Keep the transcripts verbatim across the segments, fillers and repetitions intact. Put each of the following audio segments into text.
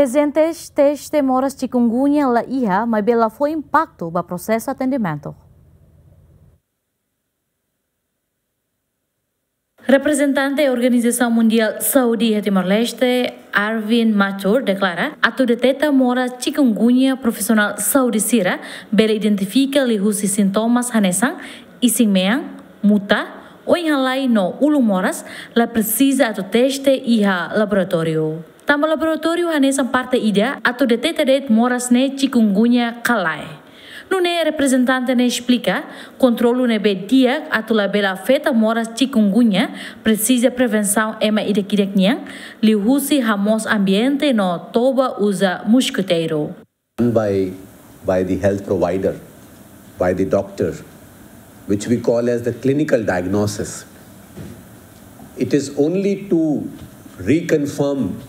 Agentes teste moras chikungunya la iha, maibé la fó impaktu ba prosesu atendimentu. Reprezentante Organizasaun Mundiál Saúde iha Timor-Leste, Arvind Mathur, deklara atu deteta moras chikungunya, profisionál saúde sira bele identifika liuhusi sintomas hanesan isin-mean, muta, oin-halai no ulun moras, la presiza atu teste iha laboratóriu. Tanba laboratóriu hanesan parte ida atu deteta de'it moras ne'e chikungunya ka lae. Nune'e reprezentante ne'e esplika, kontrolu ne'ebé di'ak atu labele afeta moras chikungunya presiza prevensaun ema ida-idak nian, liuhusi hamoos ambiente no toba uza moskiteiru. Done by, by the health provider, by the doctor, which we call as the clinical diagnosis. It is only to reconfirm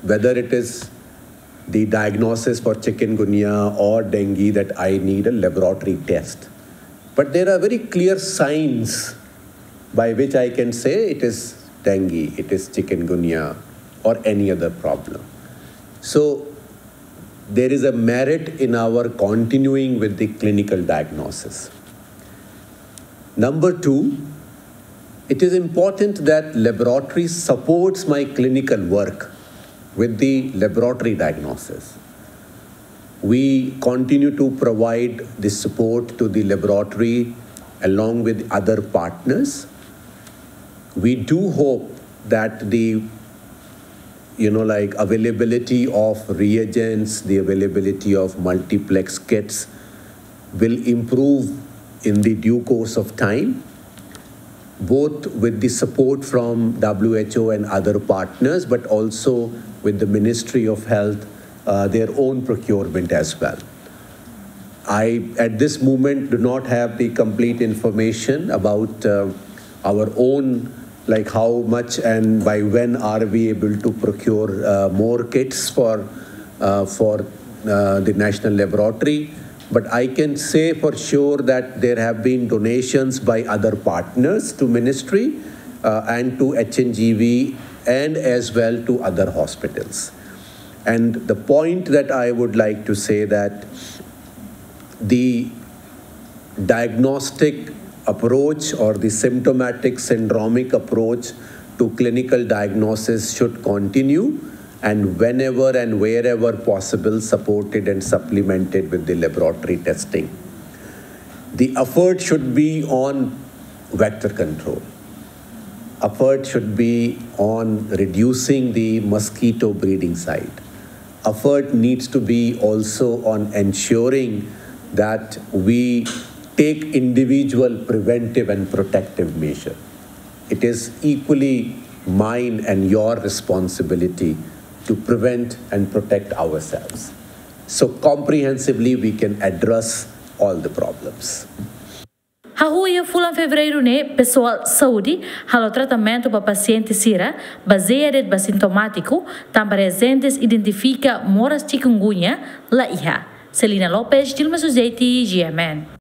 whether it is the diagnosis for chikungunya or dengue that I need a laboratory test. But there are very clear signs by which I can say it is dengue, it is chikungunya, or any other problem. So there is a merit in our continuing with the clinical diagnosis. Number two, it is important that laboratory supports my clinical work with the laboratory diagnosis. We continue to provide the support to the laboratory along with other partners. We do hope that the, you know, like, availability of reagents, the availability of multiplex kits will improve in the due course of time, both with the support from W H O and other partners, but also with the Ministry of Health, uh, their own procurement as well. I, at this moment, do not have the complete information about, uh, our own, like, how much and by when are we able to procure, uh, more kits for, uh, for, uh, the national laboratory. But I can say for sure that there have been donations by other partners to ministry, uh, and to H N G V and as well to other hospitals. And the point that I would like to say that the diagnostic approach or the symptomatic syndromic approach to clinical diagnosis should continue, and whenever and wherever possible, supported and supplemented with the laboratory testing. The effort should be on vector control. Effort should be on reducing the mosquito breeding site. Effort needs to be also on ensuring that we take individual preventive and protective measure. It is equally mine and your responsibility to prevent and protect ourselves. So comprehensively, we can address all the problems. Hahú iha fulan Fevereiru ne'e, pesoál saúde halo tratamentu ba pasiente sira bazeia de'it ba sintomátiku, tanba reajentes identifika moras chikungunya la iha. Celina Lopes, Dilma Sujeiti, G M N.